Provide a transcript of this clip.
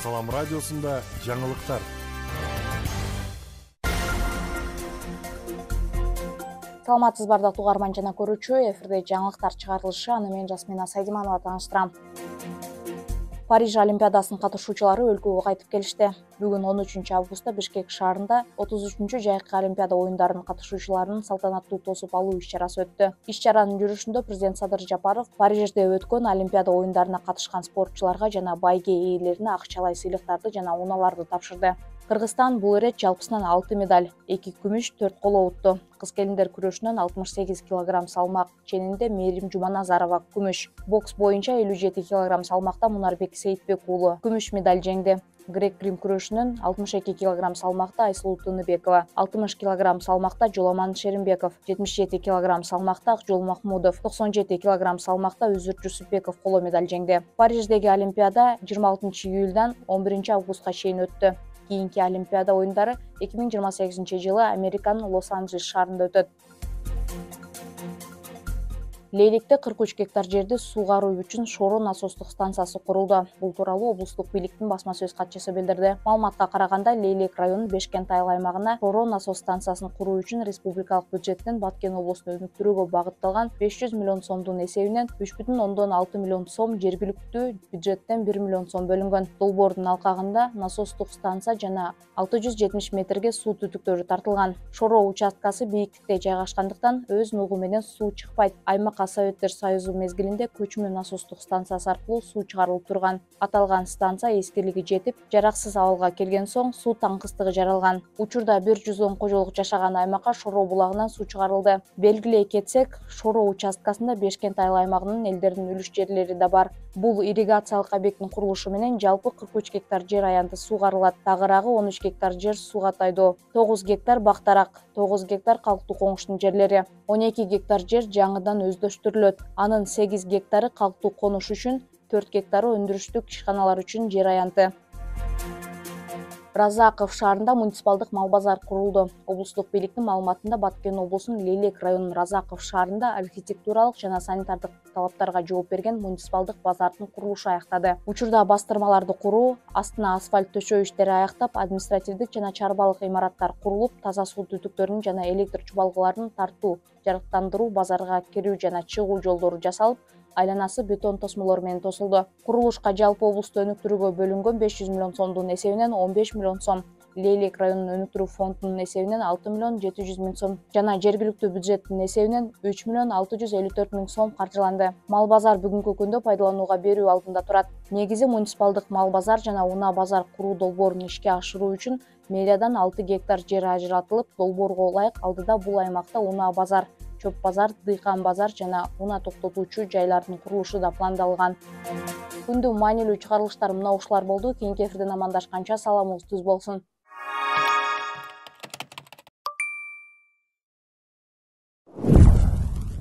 Салам радиосунда жаңылыктар. Саламатсызбар угарман жана көрүүчү, эфирде жаңылыктар чыгарылышы, аны мен Жасмина Сайдиманова тааныштырам. Париж Олимпиадасынын катышуучулары өлкөгө кайтып келишти. Бүгүн 13 августта Бишкек шаарында 33-чү жайкы Олимпиада оюндарынын катышуучуларынын салтанаттуу тосуп алуу иш-чарасы өттү. Иш-чаранын жүрүшүндө президент Садыр Жапаров Парижде өткөн Олимпиада оюндарына катышкан спортчуларга жана байге ээлерине акчалай сыйлыктарды жана унааларды тапшырды. Кыргызстан бул ирет жалпысынан 6 медаль, 2 күмүш, 4 коло утту. Кыз-келиндер күрөшүнөн 68 кг салмак ченинде Мээрим Жуманазарова күмүш, бокс боюнча 57 кг салмакта Мунарбек Сейитбек уулу күмүш медаль жеңди. Грек-рим күрөшүнөн 62 кг салмакта Айсулуу Тыныбекова, 60 кг салмакта Жоламан Шеримбеков, 77 кг салмакта Акжол Махмудов, 97 кг салмакта Үзүр Жусупбеков коло медаль жеңди. Париждеги Олимпиада 26 июлдан 11 августка чейин өттү. Кийинки Олимпиада оюндары 2028-жылы Американын Лос-Анджелес шаарында өтөт. Лейликте 43 гектар жерди суугаруу үчүн Шоро насостук станциясы курулду. Бул тууралуу облустук бийликтин басма сөз катчысы билдирди. Маалыматка караганда, Лейлик районунун Бешкент айыл аймагына Шоро насос станциясын куруу үчүн республикалык бюджеттен Баткен облустун өнүктүрүүгө багытталган 500 миллион сомдун эсебинен 3,6 миллион сом, жергиликтүү бюджеттен 1 миллион сом бөлүнгөн. Долбоордун алкагында насостук станция жана 670 метрге суу түтүктөрү тартылган. Шоро участкасы бийиктикте жайгашкандыктан өз нугу менен суу чыкпайт. Аймак Советтер союзу мезгилинде көчмө насостук станциясы аркылуу суу чыгарылып турган. Аталган станция эскилиги жетип, жараксыз абалга келген соң суу таңкыстыгы жаралган. Учурда 110 кожолук жашаган аймакка Шоро булагынан суу чыгарылды. Белгилей кетсек, Шоро участкасында Бешкент айыл аймагынын элдеринин үлүш жерлери да бар. Бул ирригациялык объекттин курулушу менен жалпы 43 гектар жер аянты суугарылат. Тагыраагы 13 гектар жер сууга тайдоо, 9 гектар бактарак, 9 гектар калктуу коңуштун жерлери, 12 гектар жер жаңыдан өздөштүрүлөт. Анын 8 гектары калктуу конуш үчүн, 4 гектары өндүрүштүк ишканалар үчүн жер аянты. Разаков шаарында муниципалдык мал базар курулду. Облустук бийликтин маалыматында Баткен облусунун Лейлек районунун Разаков шаарында архитектуралык жана санитардык талаптарга жооп берген муниципалдык базардын курулушу аяктады. Учурда бастырмаларды куруу, астына асфальт төшөө иштери аяктап, административдик жана чарбалык имараттар курулуп, таза суу түтүктөрүнүн жана электр чубалгыларынын тартуу, жарыктандыруу, базарга кирүү жана чыгуу жолдору жасалып, айланасы бетон тосмолор менен тосулду. Курулушка жалпы облусту өнүктүрүүгө бөлүнгөн 500 миллион сомдун эсебинен 15 миллион сом, Лейлек районунун өнүктүрүү фондунун эсебинен 6 миллион 700 миң сом жана жергиликтүү бюджеттин эсебинен 3 миллион 654 миң сом каржыланды. Мал базар бүгүнкү күндө пайдаланууга берүү алдында турат. Негизи муниципалдык мал базар жана унаа базар куруу долбоорун ишке ашыруу үчүн мэриядан 6 гектар жер ажыратылып, долбоорго ылайык алдыда бул аймакта унаа базар, чөп базар, дыйкан базар жана унаа токтотуучу жайлардын курулушу да пландалган. Күндүн маанилүү чыгарылыштары мына ушулар болду. Кийинки эфирден амандашканча саламыңыз түз болсун.